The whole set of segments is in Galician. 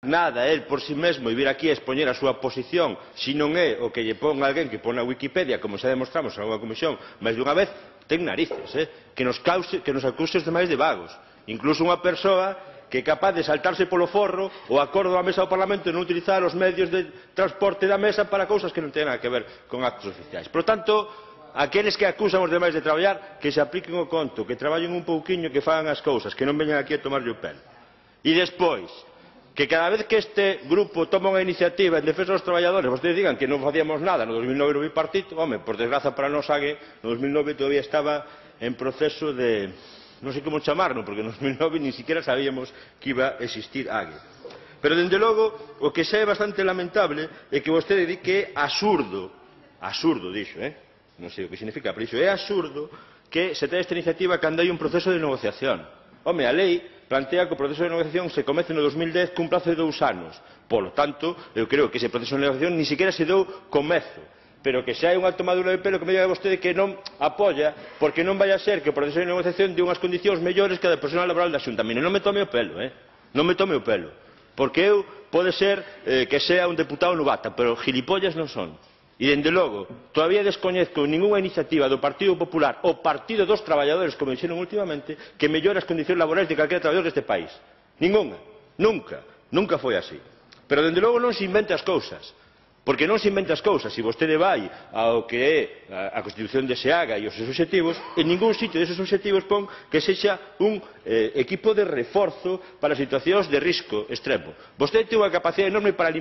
nada el por si mesmo e vir aquí a expoñer a súa posición, se non é o que lle pon alguén que pon na Wikipedia, como xa demostramos en unha comisión máis dunha vez, ten narices, que nos acuse os demais de vagos. Incluso unha persoa que é capaz de saltarse polo forro o acordo da mesa do Parlamento e non utilizar os medios de transporte da mesa para cousas que non teñen nada que ver con actos oficiais. Por tanto, aqueles que acusan os demais de traballar, que se apliquen o conto, que traballen un pouquiño, que fagan as cousas, que non veñan aquí a tomarlle o pelo. E despois, que cada vez que este grupo toma unha iniciativa en defensa dos traballadores, vostedes digan que non facíamos nada no 2009 no bipartito, home, por desgraza para nós AGE, no 2009 todavía estaba en proceso de, non sei como chamarlo, porque no 2009 ni siquiera sabíamos que iba a existir AGE. Pero, dende logo, o que xa é bastante lamentable é que vostede di que é absurdo, dixo, non sei o que significa, pero iso é absurdo que se ten esta iniciativa cando hai un proceso de negociación. Home, a lei plantea que o proceso de negociación se comece no 2010 cun prazo de 2 anos. Polo tanto, eu creo que ese proceso de negociación ni siquiera se deu comezo. Pero que xa hai unha tomadura de pelo que me diga vostede que non apoia, porque non vai a ser que o proceso de negociación de unhas condicións mellores que a de personal laboral da Xunta. Mire, non me tome o pelo, non me tome o pelo. Porque eu pode ser que sea un deputado novata, pero gilipollas non son. E, dende logo, todavía descoñezco ningunha iniciativa do Partido Popular ou Partido dos Traballadores, como dixeron últimamente, que mellore as condicións laborais de calquera traballador deste país. Ningunha. Nunca. Nunca foi así. Pero, dende logo, non se invente as cousas. Porque non se inventa as cousas. Se vostede vai ao que é a Constitución de SEAGA e os seus obxectivos, en ningún sitio deses obxectivos pon que sexa un equipo de reforzo para situacións de risco extremo. Vostede ten unha capacidade enorme para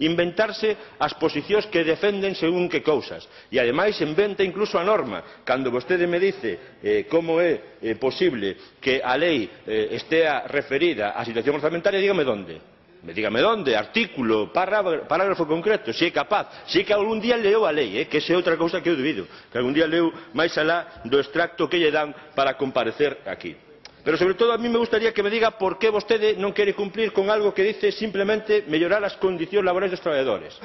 inventarse as posicións que defenden según que cousas. E, ademais, inventa incluso a norma. Cando vostede me dice como é posible que a lei estea referida á situación orzamentaria, dígame onde. Dígame onde, artículo, parágrafo concreto, se é capaz, se é que algún día leu a lei, que esa é outra cousa que eu dubido, que algún día leu máis alá do extracto que lle dan para comparecer aquí. Pero, sobre todo, a mí me gustaría que me diga por que vostede non quere cumplir con algo que dice simplemente mellorar as condicións laborais dos traballadores.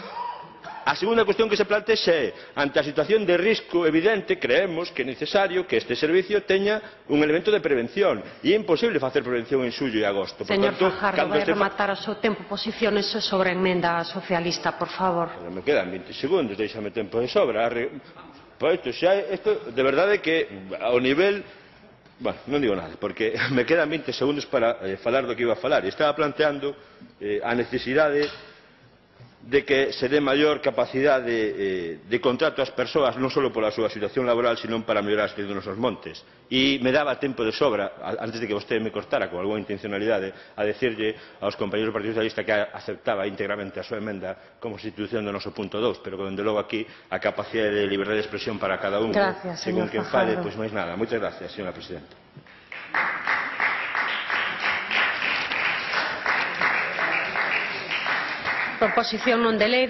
A segunda cuestión que se plantea é, ante a situación de risco evidente, creemos que é necesario que este servicio teña un elemento de prevención. E é imposible facer prevención en xullo e agosto. Señor Fajardo, vai rematar o seu tempo. Posiciónese sobre a emenda socialista, por favor. Me quedan 20 segundos, deixame tempo de sobra. Isto, de verdade que, ao nivel... Bueno, non digo nada, porque me quedan 20 segundos para falar do que iba a falar. E estaba planteando a necesidade de que se dé maior capacidade de contrato ás persoas, non só pola súa situación laboral, sino para mellorar a situación dos nosos montes. E me daba tempo de sobra, antes de que vostede me cortara con algunha intencionalidade, a decirlle aos compañeros do Partido Socialista que aceptaba íntegramente a súa emenda como sustitución do noso punto 2, pero que, dende logo, aquí a capacidade de liberdade de expresión para cada un, según quen fale, pois máis nada. Moitas gracias, señora presidenta. Proposición non de lei